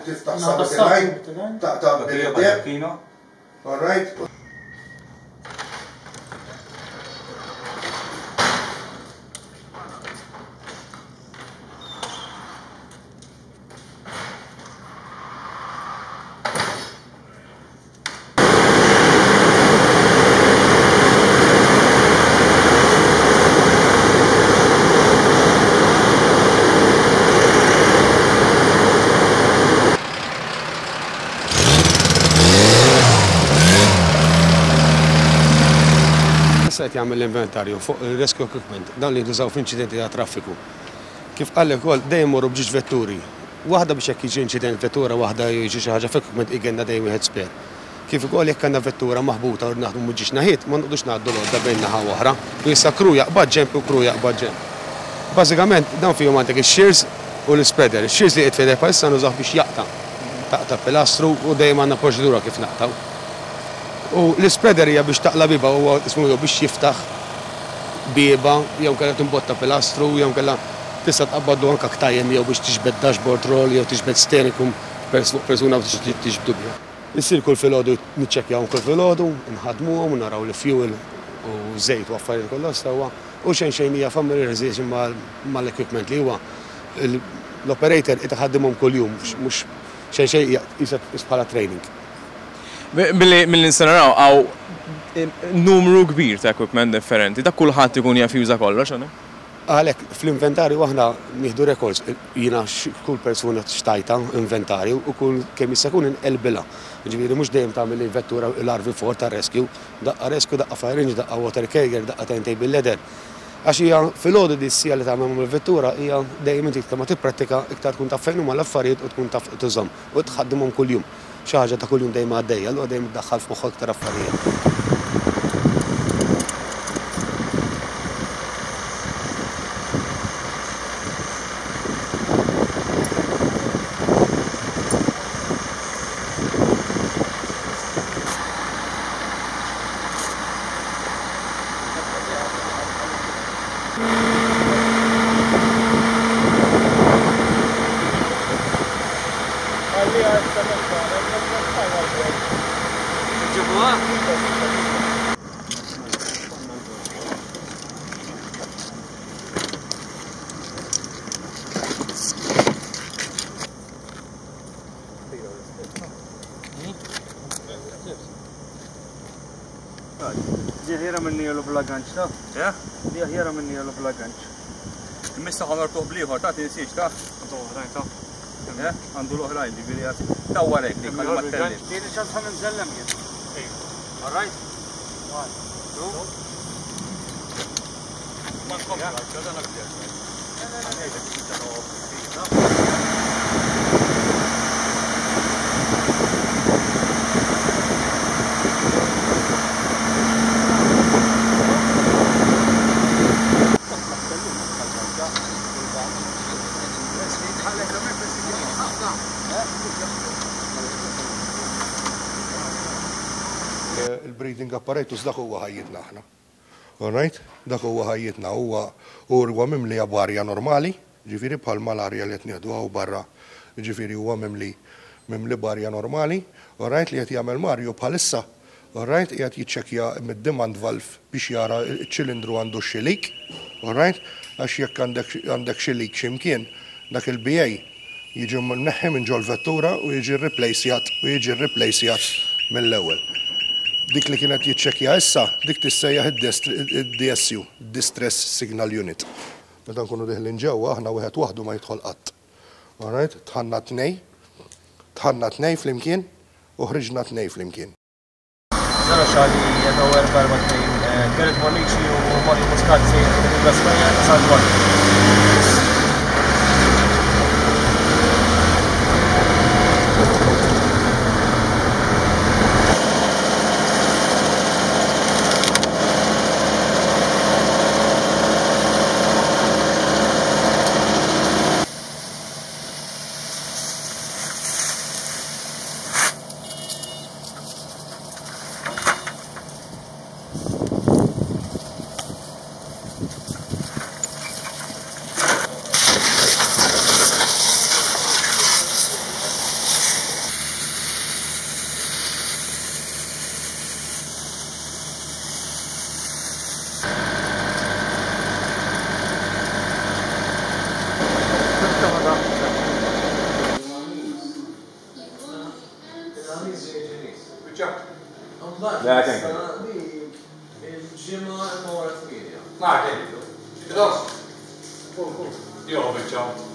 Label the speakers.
Speaker 1: Tiftaħ sabit taqta' bil-deb. All right.
Speaker 2: Issa qed jagħmel l-inventarju fuq il-rescue equipment, dawn li jintużaw f'inċidenti ta' traffiku. Kif qal ukoll dejjem imorru b'ġiex vetturi. Waħda biex jekk jiġi inċident vettura waħda jew jiġi xi ħaġa f'equipment igenna dejjem wieħed spare. Kif ukoll jekk għandna vettura maħbuta u rrid naħdmu minn ġiex naħiet, ma noqogħdux ngħaddu l-għodda bejn naħa u oħra. U issa crew jaqbad ġenb u crew jaqbad ġenb. Bażikament dawn fihom għandek ix-shears u l-ispreader. Ix-shears li qiegħed f'idejh bħalissa nużawh biex jaqta'. Taqta' pilastru u dejjem għandna proċedura kif naqtgħu. U l-ispreader hija biex taqla' bieba huwa ismu jew biex jiftaħ bieba jew inkella timbotta pilastru jew inkella tista' tqabbadlu anke ktajjem jew biex tiġbed dashboard roll jew tiġbed steering fuq persuna u tiġbdu biha. Issir kull filgħodu niċċekkjahom kull filgħodu, inħaddmuhom u naraw li fuel u żejt u affarijiet kollha sewwa u xejn xejn hija familiarization mal-equipment li huwa l-operator qed iħaddimhom kuljum mhux xejn xejn hija qisha bħala training.
Speaker 3: Milli nistgħu naraw hawn numru kbir ta' equipment differenti, dak kulħadd ikun jaf juża kollox, għalhekk?
Speaker 2: Għalhekk, fl-inventarju aħna nieħdu records, jiena kull persuna xtajtha inventarju u kull kemm jista' jkun inqelbilha. Jiġifieri mhux dejjem tagħmel il-vettura l-RV4 tar-rescue, daqqa rescue, daqqa fire engine, daqqa water carrier, daqqa turntable ladder. Għax hija filgħodu di s-siegħa li tagħmel mal-vettura hija dejjem inti iktar ma tipprattika iktar tkun taf fejn huma l-affarijiet u tkun taf tużhom u tħaddimhom kuljum. Xi ħaġa ta' kuljum dejjem għaddejja, allura dejjem iddaħħal f'moħħok iktar affarijiet.
Speaker 4: Di aħjara minn jelu bla ganċ, ta?
Speaker 5: Eh?
Speaker 4: Di aħjara minn jelu bla ganċ.
Speaker 5: Imissa ħanortuh bliħor, ta' tinsiex, ta'
Speaker 4: Għandu oħrajn, ta'
Speaker 5: Eh? Għandu l-oħrajn, ġifieri għad. Ta' warek dik, ħalli ma tellifx.
Speaker 4: Tieni ċans ħa nżellem jien. All right? One, two.
Speaker 5: Ma nkomplu, dan aktar.
Speaker 1: Il-breathing apparatus dak huwa ħajjitna aħna. All right? Dak huwa ħajjitna huwa huwa mimli b'arja normali, ġifieri bħal mal-arja li qed nieħdu hawn barra, ġifieri huwa mimli mimli b'arja normali, all right, li qed jagħmel Mario bħalissa, all right, qiegħed jiċċekkja mid-demand valve biex jara ċ-ċilindru għandu xi leak, all right, għax jekk għandek għandek xi leak x'imkien, dak il-BA jiġi mneħħi minn ġol-vettura u jiġi rreplacjat u jiġi rreplacjat mill-ewwel. Dik li kienet jiċċekkja issa, dik tissejjaħ id-DSU, Distress Signal Unit. Meta nkunu deħlin ġewwa aħna wieħed waħdu ma jidħol qatt. All right? Dħalna tnej, dħalna tnej flimkien u ħriġna tnej flimkien.
Speaker 4: 0 Charlie Echo 442, Gareth Bonnici u Mario Muscat sejrin minn Spanja ta' San Juan.
Speaker 5: Mbagħad
Speaker 3: Le, kemm
Speaker 5: issa li il-ġimgħa imma wara 8.
Speaker 6: Martin. Dos. Jo, biċċa.